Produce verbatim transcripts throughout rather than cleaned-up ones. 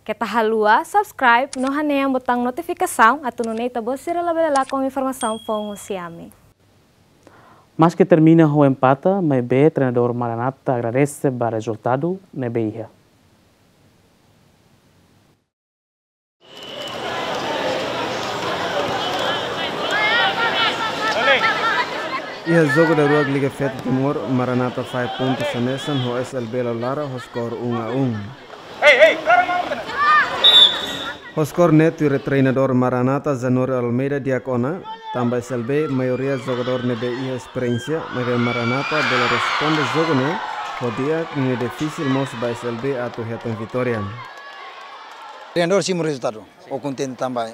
Keta haluha subscribe no hanehan butaun notifikasaun atu nune'e ita-boot sira labele lakon informasaun foun husi ami. Maski termina ho empate, maibé treinadór Maranata agradese ba rezultadu ne'ebé iha. Iha jogu daruak Liga Feto Timor, Maranata fahe pontu hanesan ho S L B Laulara ho skor um a um. Ho skor ne'e tuir treinadór Maranata Januário Almeida di'ak ona, tanba S L B maioria jogadór ne'ebé iha esperiénsia, maibé Maranata bele responde jogu ne'e ho di'ak, ne'e difisil mós ba S L B atu hetan vitória. Treinadór simu rezultadu, ha'u kontente tanba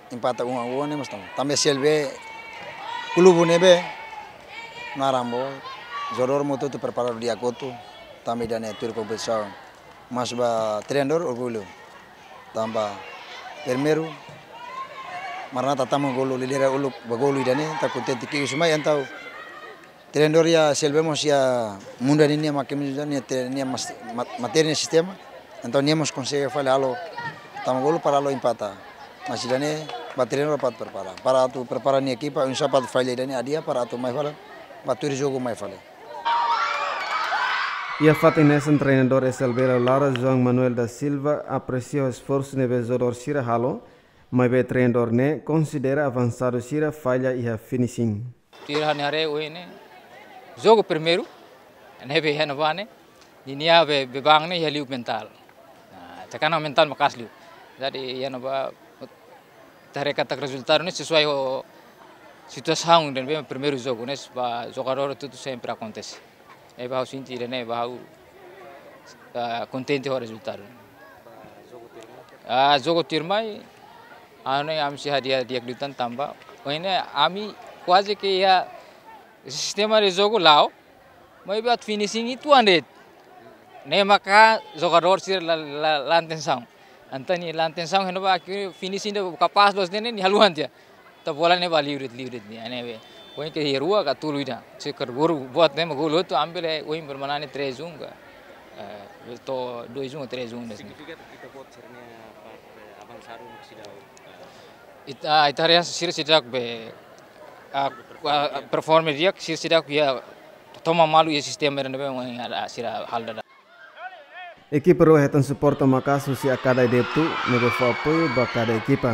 empate um a um ne'e mós tanba, tanba S L B klube ne'ebé naran boot, jogadór mós hotu-hotu preparadu di'ak hotu, tanba ida-ne'e tuir kompetisaun. Mas ba treinadór orgullu. Tanba primeiru, Maranata tama golu, lidera uluk ba golu ida-ne'e, ita kontente ki'ik husi mai, entaun treinadór iha S L B mós iha mundu ninia makin, ninia tre-, ninia mas-, mat-, matéria ninia sistema. Entaun nia mós konsege fali halo tama golu para halo empate. Mas ida-ne'e ba treinadór para atu prepara. Para atu prepara nia ekipa, oinsá para atu falla ida-ne'e hadi'a para atu mai fali, ba tuir jogu mai fali. Iha fatin hanesan treinadór S L B Laulara João Manuel da Silva apresia esforsu ne'ebé jogadór sira halo, maibé treinadór ne'e konsidera avansadu sira falla iha finishing. Tuir ha'u-nia haree ohin ne'e, jogu primeiru, ne'ebé iha ne'ebá ne'e, ninia be-, beban ne'e iha liu mentál. Ah, tekanan mentál maka'as liu. Jadi iha ne'ebá, ita haree katak rezultadu ne'e sesuai ho situasaun ida-ne'ebé primeiru jogu ne'e, ba jogadór hotu-hotu sempre akontese. Ne'ebé ha'u sente ida-ne'e, ba ha'u, ah, kontente ho rezultadu. Ah, jogu tuirmai, anu, ami sei hadi'a di'ak liután tanba ohin ne'e ami kuaze ke iha sistema de jogu la'o, maibé atu finishing uitoan de'it. Ne'e maka jogadór sira la, la, la atensaun. Entaun nia la atensaun, heno ba ke finishing ida kapás loos ne'e, nia haluha tiha. Entaun bola ne'e ba liu de'it, liu de'it nia, ne'ebé. Ohin ke iha rua ka tolu ida. Se karburu buat ne'e mak golu hotu, ami bele ohin bermain ne'e três um ka. Eh, to'o dois um, três um ne'e. Signifika ita-boot sira-nia parte avansadu mak seidauk, eh, ita, ita haree sira seidauk be, ah, ah, performa di'ak, sira seidauk iha toman malu iha sistema ida-ne'ebé ohin sira halo daudaun. Ekipa rua hetan suporta maka'as husi Academy Deptu, ne'ebé fó apoiu ba kada ekipa.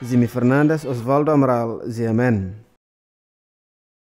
Jimmy Fernandes, Osvaldo Amaral, G M N.